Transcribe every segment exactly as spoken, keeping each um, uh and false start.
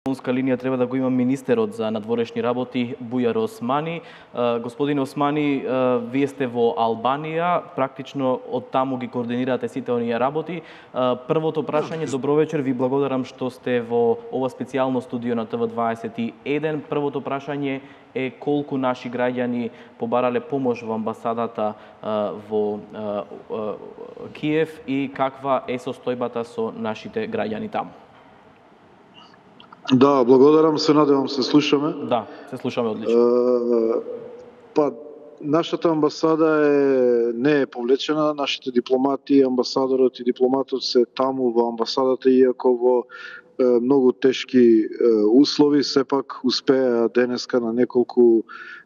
телефонска линија треба да го има министерот за надворешни работи Бујар Османи. Господин Османи, вие сте во Албанија, практично од таму ги координирате сите оние работи. Првото прашање, добро вечер, ви благодарам што сте во ова специјално студио на Т В дваесет и еден. Првото прашање е колку наши граѓани побарале помош во амбасадата во Киев и каква е состојбата со нашите граѓани таму? Да, благодарам, се надевам се слушаме. Да, се слушаме одлично. Uh, па, нашата амбасада е, не е повлечена, нашите дипломати, амбасадорот и дипломатот се таму во амбасадата, иако во е, многу тешки е, услови, сепак успеа денеска на неколку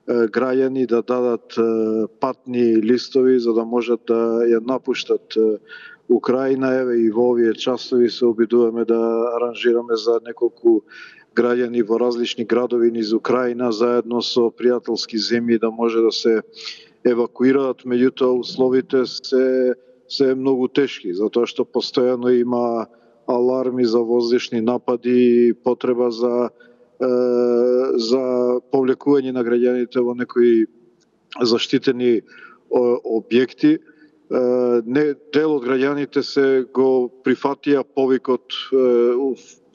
е, граѓани да дадат е, патни листови за да можат да ја напуштат е, Украина. Еве и во овие часови се обидуваме да аранжираме за неколку граѓани во различни градови низ Украина заедно со пријателски земји да може да се евакуираат, меѓутоа условите се се многу тешки, затоа што постојано има аларми за воздушни напади, потреба за е, за повлекување на граѓаните во некои заштитени објекти. Не, дел од граѓаните се го прифатија повикот,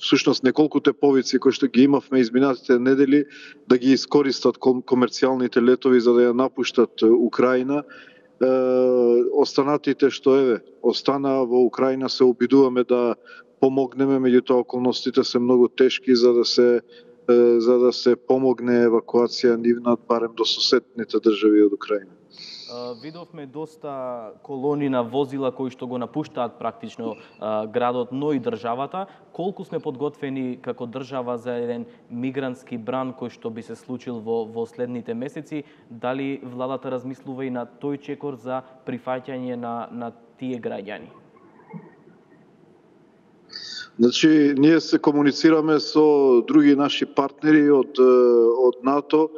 всушност неколкуте повици кои што ги имавме изминатите недели, да ги искористат комерцијалните летови за да ја напуштат Украина. Останатите што еве остана во Украина се обидуваме да помогнеме, меѓутоа околностите се многу тешки за да се за да се помогне евакуација нивна барем до соседните држави од Украина. Видовме доста колони на возила кои што го напуштаат практично градот, но и државата. Колку сме подготвени како држава за еден мигрантски бран кој што би се случил во, во следните месеци? Дали владата размислува и на тој чекор за прифаќање на, на тие граѓани? Значи, ние се комуницираме со други наши партнери од, од НАТО,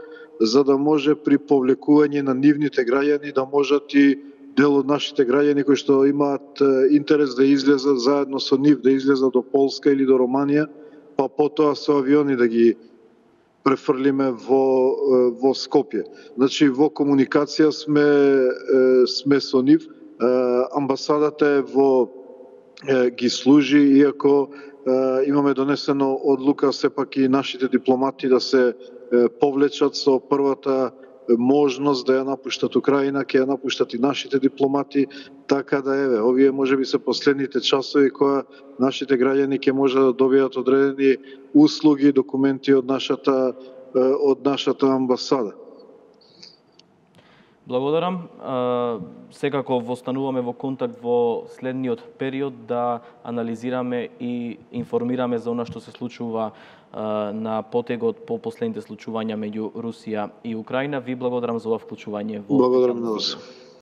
за да може при повлекување на нивните граѓани да можат и дел од нашите граѓани кои што имаат интерес да излезат заедно со нив, да излезат до Полска или до Романија, па потоа со авиони да ги префрлиме во во Скопје. Значи во комуникација сме сме со нив. Амбасадата е во ги служи, иако имаме донесено одлука сепак и нашите дипломати да се повлечат со првата можност да ја напуштат Украина, ќе ја напуштат и нашите дипломати, така да еве, овие можеби се последните часови која нашите граѓани ќе може да добијат одредени услуги, документи од нашата од нашата амбасада. Благодарам. Секако востануваме во контакт во следниот период да анализираме и информираме за она што се случува на потегот по последните случувања меѓу Русија и Украина. Ви благодарам за ова вклучување во... Благодарам на вас.